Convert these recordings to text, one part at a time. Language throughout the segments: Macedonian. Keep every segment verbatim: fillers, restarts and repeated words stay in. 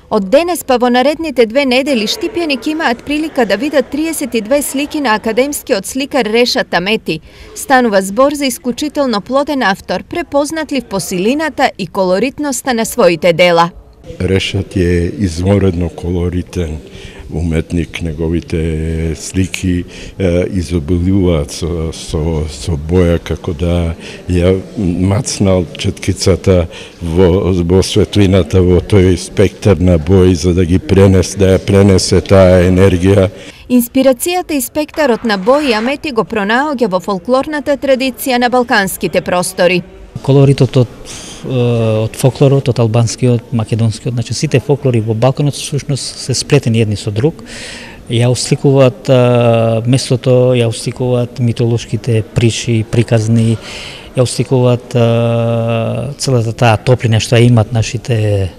Од денес па во наредните две недели Штипјани ќе имаат прилика да видат триесет и две слики на академскиот сликар Решат Амети. Станува збор за исклучително плоден автор, препознатлив по силината и колоритноста на своите дела. Решат е изморедно колоритен уметник, неговите слики е, изобилуваат со, со, со боја, како да ја мацнал четкицата во, во светлината, во тој спектар на бои, за да ги пренесе, да ја пренесе таа енергија. Инспирацијата и спектарот на бои Амети го пронаоѓа во фолклорната традиција на балканските простори. Колоритот од, од фолклорот, од албанскиот, македонскиот, значи сите фолклори во Балканот всушност се сплетени едни со друг. Ја усликуваат а, местото, ја усликуваат митолошките приши, приказни, ја усликуваат а, целата таа топлина што ја имат нашите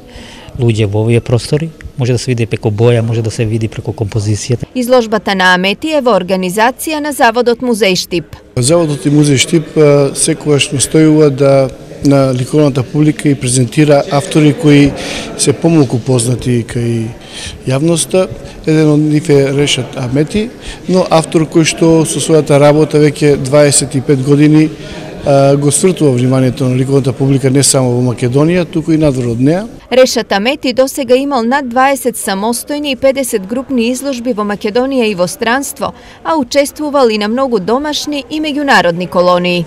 луѓе во овие простори. Може да се види преку боја, може да се види преку композицијата. Изложбата на Амети е во организација на Заводот Музеј Штип. Заводот и Музеј Штип секогаш настојува да на ликовната публика и презентира автори кои се помалку познати кај јавноста. Еден од нив е Решат Амети, но автор кој што со својата работа веќе дваесет и пет години го свртува вниманието на ликовната публика не само во Македонија, туку и надвор од неа. Решат Амети досега имал над дваесет самостојни и педесет групни изложби во Македонија и во странство, а учествувал и на многу домашни и меѓународни колонии.